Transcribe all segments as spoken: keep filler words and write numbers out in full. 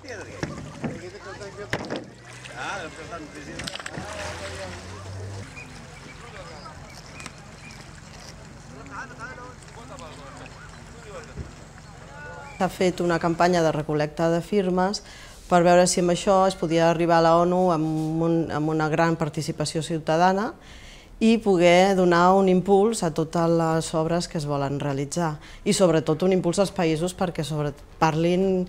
S'ha fet una campanya de recol·lecta de firmes per veure si amb això es podia arribar a la ONU amb, un, amb una gran participació ciutadana i poder donar un impuls a totes les obres que es volen realitzar i sobretot un impuls als països perquè sobre, parlin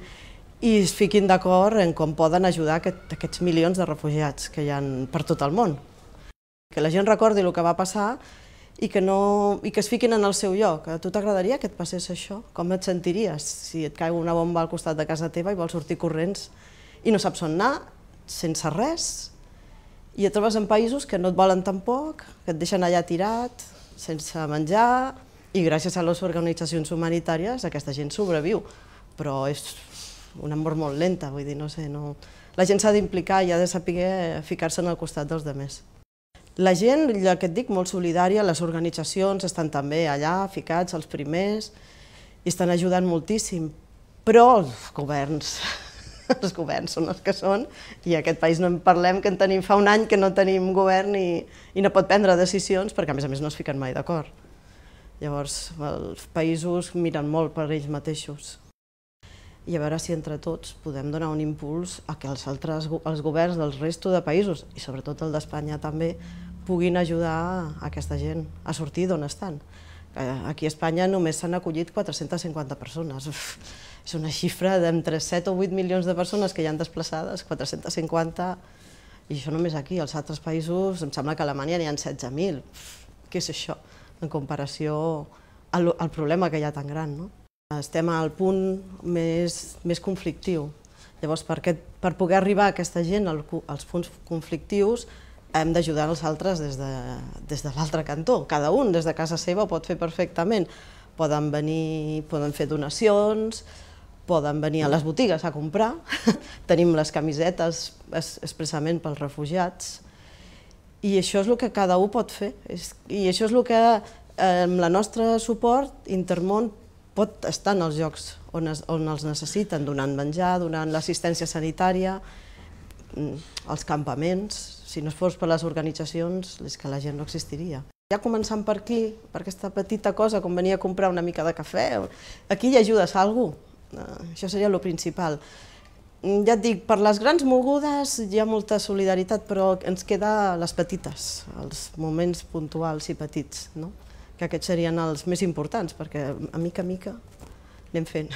i es fiquin d'acord en com poden ajudar aquest, aquests milions de refugiats que hi ha per tot el món. Que la gent recordi el que va passar i que, no, i que es fiquin en el seu lloc. A tu t'agradaria que et passés això? Com et sentiries si et cau una bomba al costat de casa teva i vols sortir corrents i no saps on anar, sense res, i et trobes en països que no et volen tampoc, que et deixen allà tirat, sense menjar, i gràcies a les organitzacions humanitàries aquesta gent sobreviu, però és una mort molt lenta, vull dir, no sé, no... La gent s'ha d'implicar i ha de saber ficar-se en el costat dels altres. La gent, ja que et dic, molt solidària, les organitzacions estan també allà, ficats, els primers, i estan ajudant moltíssim, però els governs, els governs són els que són, i a aquest país no en parlem, que en tenim fa un any que no tenim govern i, i no pot prendre decisions, perquè a més a més no es fiquen mai d'acord. Llavors, els països miren molt per ells mateixos. I a veure si entre tots podem donar un impuls a que els altres els governs del resto de països, i sobretot el d'Espanya també, puguin ajudar aquesta gent a sortir d'on estan. Aquí a Espanya només s'han acollit quatre-centes cinquanta persones. És una xifra d'entre set o vuit milions de persones que hi han desplaçades, quatre-centes cinquanta, i això només aquí. Als altres països, em sembla que a Alemanya n'hi ha setze mil. Què és això en comparació al, al problema que hi ha tan gran, no? Estem al punt més, més conflictiu. Llavors, per, aquest, per poder arribar a aquesta gent als punts conflictius, hem d'ajudar els altres des de, des de l'altre cantó. Cada un des de casa seva ho pot fer perfectament. Poden venir, poden fer donacions, poden venir a les botigues a comprar. Tenim les camisetes expressament pels refugiats. I això és el que cada un pot fer. I això és el que, amb el nostre suport, Intermón pot estar en els llocs on, es, on els necessiten, donant menjar, donant l'assistència sanitària, els campaments. Si no fos per les organitzacions, és que la gent no existiria. Ja començant per aquí, per aquesta petita cosa, com venir a comprar una mica de cafè, aquí hi ajudes a algú. Això seria el principal. Ja et dic, per les grans mogudes hi ha molta solidaritat, però ens queda les petites, els moments puntuals i petits, no? Que aquests serien els més importants, perquè a mica a mica anem fent.